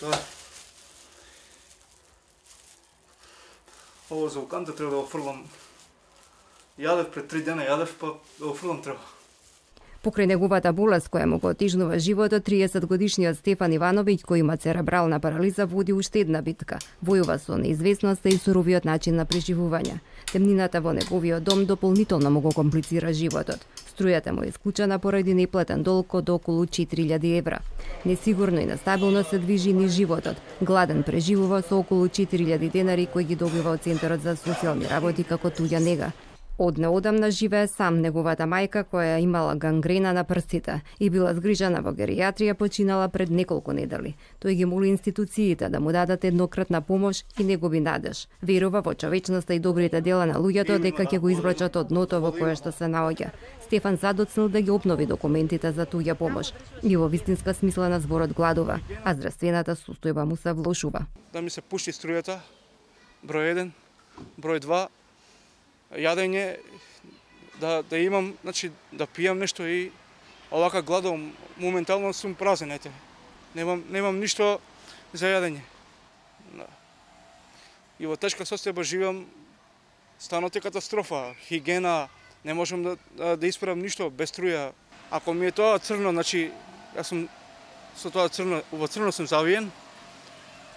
Тоа. Ово за уканта треба да го фрлам. Јадев пред 3 дена, па да го фрлам треба. Покрај неговата болест која му го отежнува животот, 30-годишниот Стефан Ивановиќ, кој има церебрална парализа, води уште една битка. Војува со неизвестноста и суровиот начин на преживување. Темнината во неговиот дом дополнително му го комплицира животот. Струјата му е исклучена поради неплатен долг од околу 4000 евра. Несигурно и нестабилно се движи низ животот. Гладен преживува со околу 4000 денари кои ги добива од Центарот за социјални работи како туѓа нега. Од неодамна живее сам. Неговата мајка, која имала гангрена на прстите и била згрижана во геријатрија, починала пред неколку недели. Тој ги моли институциите да му дадат еднократна помош и негови надеж. Верува во човечноста и добрите дела на луѓето дека ќе го извлечат од дното во кое што се наоѓа. Стефан задоцнил да ги обнови документите за туѓа помош и во вистинска смисла на зборот гладува, а здравствената состојба му се влошува. Да ми се пушти струјата, број 1, број 2, јадење, да имам, значи да пијам нешто и овака гладувам, моментално сум празен, ете. Немам ништо за јадење. И во тешка состојба живеам, станот е катастрофа, хигиена, не можам да исправам ништо без струја. Ако ми е тоа црно, значи јас сум со тоа црно, во црно сум завиен,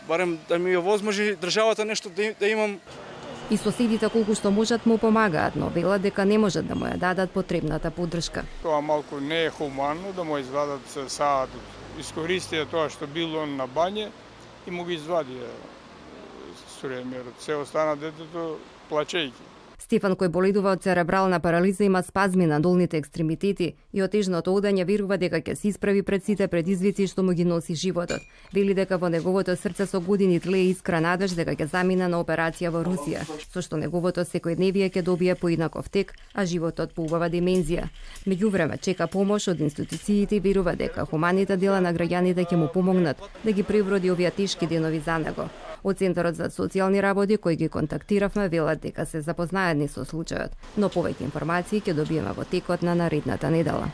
барем да ми овозможи државата нешто да имам. И соседите колку што можат му помагаат, но велат дека не можат да му ја дадат потребната поддршка. Тоа малку не е хуманно да му извадат саат. Искористија тоа што било на бање и му ги извадија струјамерот. Се остана детето плачејќи. Стефан, кој боледува од церебрална парализа, има спазми на долните екстремитети и отежното одање верува дека ќе се исправи пред сите предизвици што му ги носи животот. Вели дека во неговото срце со години тлее искра надеж дека ќе замине на операција во Русија, со што неговото секојдневие ќе добие поинаков тек, а животот поубава димензија. Меѓувреме чека помош од институциите и верува дека хуманите дела на граѓаните ќе му помогнат да ги преброди овие тешки денови за него. Од Центарот за социјални работи кои ги контактиравме велат дека се запознаени со случајот, но повеќе информации ќе добиеме во текот на наредната недела.